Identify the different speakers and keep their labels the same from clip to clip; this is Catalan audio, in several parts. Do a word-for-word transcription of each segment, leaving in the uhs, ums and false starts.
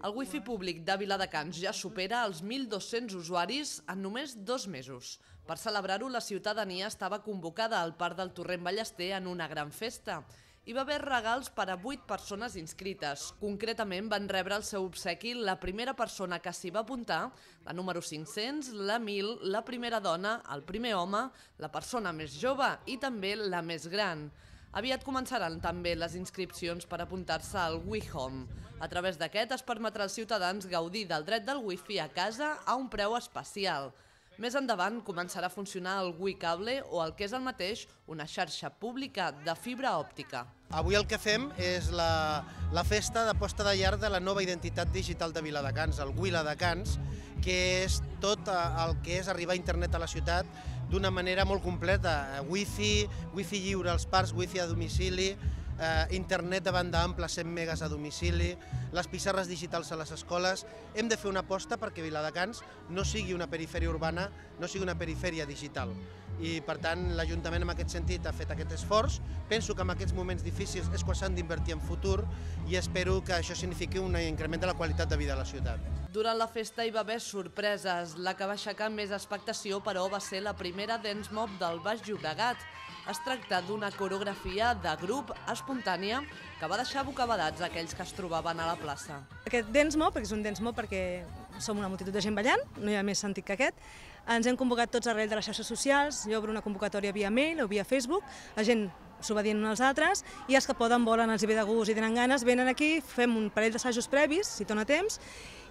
Speaker 1: El wifi públic de Viladecans ja supera els mil dos-cents usuaris en només dos mesos. Per celebrar-ho, la ciutadania estava convocada al Parc del Torrent Ballester en una gran festa. Hi va haver regals per a vuit persones inscrites. Concretament van rebre el seu obsequi la primera persona que s'hi va apuntar, la número cinc-cents, la mil, la primera dona, el primer home, la persona més jove i també la més gran. Aviat començaran també les inscripcions per apuntar-se al WiHome. A través d'aquest es permetrà als ciutadans gaudir del dret del wifi a casa a un preu especial. Més endavant començarà a funcionar el WiCable o el que és el mateix, una xarxa pública de fibra òptica.
Speaker 2: Avui el que fem és la, la festa de posta de llar de la nova identitat digital de Viladecans, el Wiladecans, que és tot el que és arribar a internet a la ciutat d'una manera molt completa. Wifi, wifi lliure als parcs, wifi a domicili, eh, internet de banda ampla, cent megas a domicili, les pissarres digitals a les escoles. Hem de fer una aposta perquè Viladecans no sigui una perifèria urbana, no sigui una perifèria digital. I per tant l'Ajuntament en aquest sentit ha fet aquest esforç. Penso que en aquests moments difícils és quan s'han d'invertir en futur i espero que això signifiqui un increment de la qualitat de vida a la ciutat.
Speaker 1: Durant la festa hi va haver sorpreses. La que va aixecar més expectació, però, va ser la primera Dance Mob del Baix Llobregat. Es tracta d'una coreografia de grup espontània que va deixar bocabadats aquells que es trobaven a la plaça.
Speaker 3: Aquest Dance Mob, perquè és un Dance Mob perquè som una multitud de gent ballant, no hi ha més sentit que aquest. Ens hem convocat tots arrel de les xarxes socials, jo obro una convocatòria via mail o via Facebook, la gent s'ho va dient uns als altres, i els que poden, volen, els hi ve de gust i tenen ganes, venen aquí, fem un parell d'assajos previs, si dona temps,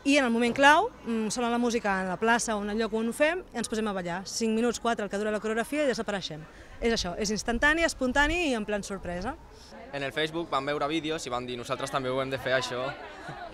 Speaker 3: i en el moment clau, sona la música en la plaça o en el lloc on ho fem, i ens posem a ballar. cinc minuts, quatre, el que dura la coreografia, i desapareixem. És això, és instantani, espontani i en plan sorpresa.
Speaker 4: En el Facebook vam veure vídeos i vam dir nosaltres també ho hem de fer això.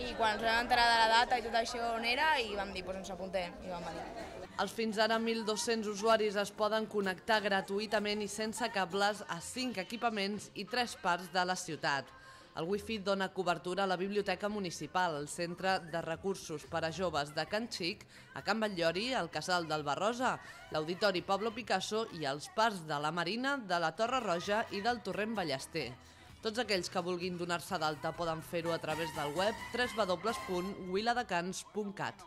Speaker 5: I quan ens vam enterar de la data i tot això on era, i vam dir, doncs ens apuntem i vam venir.
Speaker 1: Els fins ara mil dos-cents usuaris es poden connectar gratuïtament i sense cables a cinc equipaments i tres parts de la ciutat. El wifi dona cobertura a la Biblioteca Municipal, al Centre de Recursos per a Joves de Can Xic, a Can Batllori, al Casal del Barrosa, l'Auditori Pablo Picasso i els parcs de la Marina, de la Torre Roja i del Torrent Ballester. Tots aquells que vulguin donar-se d'alta poden fer-ho a través del web w w w punt wiladecans punt cat.